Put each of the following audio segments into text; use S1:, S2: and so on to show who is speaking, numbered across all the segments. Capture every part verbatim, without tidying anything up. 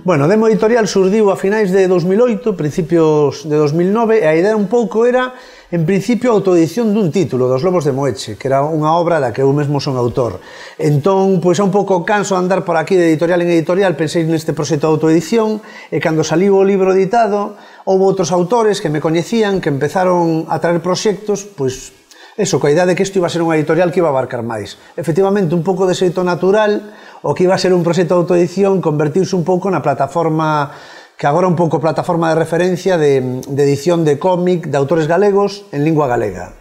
S1: Bueno, Demo Editorial surdiu a finais de dos mil oito, principios de dos mil nove, e a idea un pouco era, en principio, a autoedición dun título, dos Lobos de Moeche, que era unha obra da que eu mesmo son autor. Entón, pois é un pouco canso de andar por aquí de editorial en editorial, pensei neste proxecto de autoedición, e cando saliu o libro editado, houve outros autores que me coñecían, que empezaron a traer proxectos, pois, eso, coa idea de que isto iba a ser unha editorial que iba a abarcar máis. Efectivamente, un pouco de xeito natural, o que iba a ser un proxecto de autoedición convertiuse un pouco na plataforma, que agora un pouco plataforma de referencia de, de edición de cómic de autores galegos en lingua galega.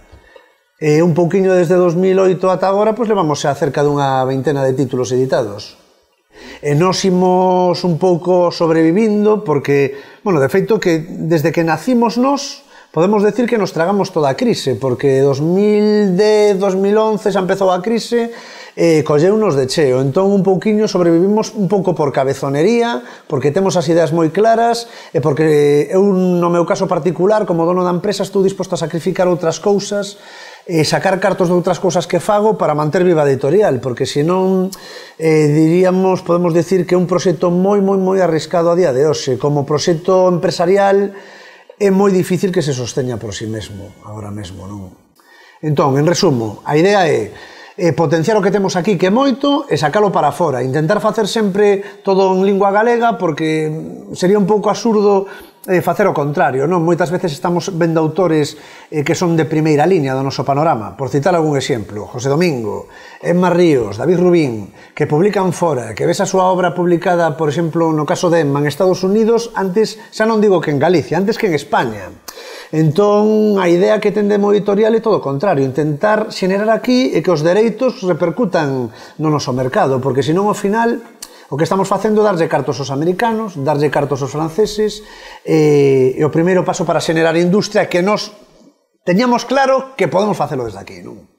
S1: E un pouquiño desde dos mil oito ata agora, pois levamos a cerca dunha veintena de títulos editados. E nós imos un pouco sobrevivindo porque, bueno, de feito que desde que nacimos nós, podemos decir que nos tragamos toda a crise, porque dos mil dez, dos mil once xa empezou a crise e colleunos de cheo. Entón, un pouquiño sobrevivimos un pouco por cabezonería, porque temos as ideas moi claras e porque eu, no meu caso particular, como dono da empresa, estou disposto a sacrificar outras cousas e sacar cartos de outras cousas que fago para manter viva a editorial, porque senón, eh, diríamos, podemos decir que é un proxecto moi, moi, moi arriscado a día de hoxe. Como proxecto empresarial é moi difícil que se sosteña por si mesmo, agora mesmo, non? Entón, en resumo, a idea é E potenciar o que temos aquí, que é moito, e sacalo para fora. Intentar facer sempre todo en lingua galega, porque sería un pouco absurdo eh, facer o contrario, non? Moitas veces estamos vendo autores eh, que son de primeira liña do noso panorama. Por citar algún exemplo, José Domingo, Emma Ríos, David Rubín, que publican fora, que ves a súa obra publicada, por exemplo, no caso de Emma, en Estados Unidos, antes, xa non digo que en Galicia, antes que en España. Entón, a idea que ten Demo Editorial é todo o contrario, intentar xenerar aquí e que os dereitos repercutan no noso mercado, porque senón ao final o que estamos facendo é darlle cartos aos americanos, darlle cartos aos franceses, e, e o primeiro paso para xenerar industria que nós teñamos claro que podemos facelo desde aquí, non?